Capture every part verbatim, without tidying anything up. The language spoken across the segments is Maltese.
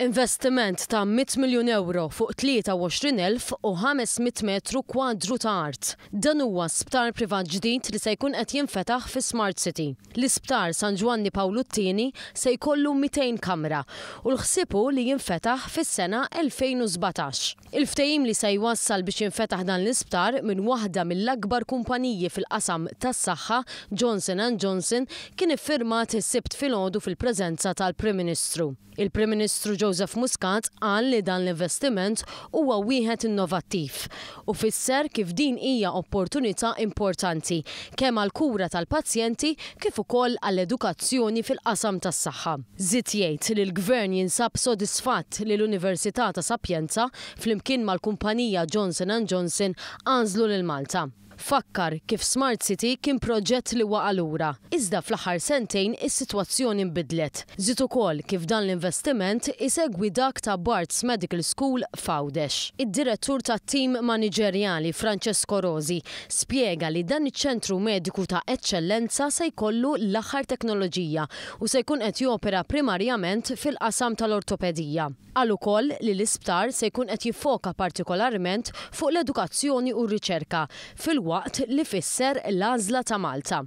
Investiment ta' mitt miljun euro fuq tlieta u għoxrin elf u ħames mitt metru kwadru ta' art. Dan huwa sptar privat ġdid li se jkun qed jinfetaħ fi Smart City. L-isptar San Ġwanni Pawlu t-Tieni se jkollu mitejn kamra u l-ħsieb hu li jinfetaħ fis-sena elfejn u sbatax. Il-ftehim li se jwassal biex jinfetaħ dan l-isptar minn waħda mill-akbar kumpaniji fil-qasam tas-saħħa, Johnson and Johnson, kien iffirmat is-Sibt filgħodu fil-preżenza tal-Prim Ministru. Il-Prim Ministru Joseph Muscat qal li dan l-investiment huwa wieħed innovattiv u fisser kif din hija opportunità importanti kemm għall-kura tal-pazjenti kif ukoll għall-edukazzjoni fil-qasam tas-saħħa. Żied jgħid li l-Gvern jinsab sodisfatt li l-Università ta' Sapienza flimkien mal-kumpanija Johnson and Johnson għażlu lil Malta. Fakkar kif Smart City kien proġett li waqa' lura, iżda fl-aħħar sentejn is-sitwazzjoni nbidlet. Żied ukoll kif dan l-investiment isegwi dak ta' Barts Medical School f'Għawdex. Id-direttur tat-tim maniġerjali, Francesco Rosi, spjega li dan iċ-ċentru mediku ta' eċċellenza se jkollu l-aħħar teknoloġija u se jkun qed jopera primarjament fil-qasam tal-ortopedija. Qal ukoll li l-isptar se jkun qed jiffoka partikolarment fuq l-edukazzjoni u r-riċerka, filwaqt li fisser l-għażla ta' Malta.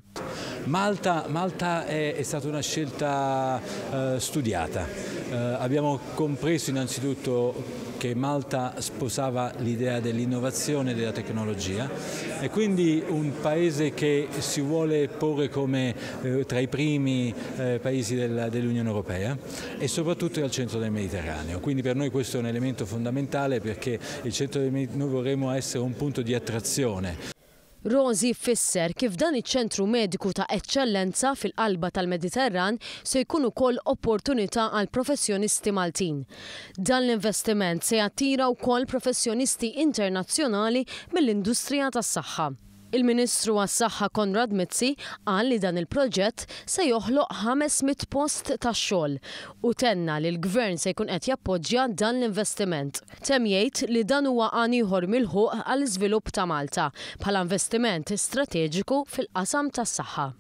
Malta, Malta è, è stata una scelta eh, studiata. Eh, abbiamo compreso innanzitutto che Malta sposava l'idea dell'innovazione e della tecnologia e quindi un paese che si vuole porre come eh, tra i primi eh, paesi del, dell'Unione Europea e soprattutto è al centro del Mediterraneo. Quindi per noi questo è un elemento fondamentale, perché il centro del Mediterraneo, noi vorremmo essere un punto di attrazione. Rosi fisser kif dan iċ-ċentru mediku ta' eċċellenza fil-qalba tal-Mediterran se jkun ukoll opportunità għal professjonisti Maltin. Dan l-investiment se jattira wkoll professjonisti internazzjonali mill-industrija tas-saħħa. Il-Ministru għas-Saħħa Konrad Mizzi qal li dan il-proġett se joħloq ħames mitt post ta' xogħol u tenna li l-Gvern se jkun qed jappoġġja dan l-investiment. Temm jgħid li dan huwa għan ieħor milħuq għall-iżvilupp ta' Malta bħala investiment strateġiku fil-qasam tas-saħħa.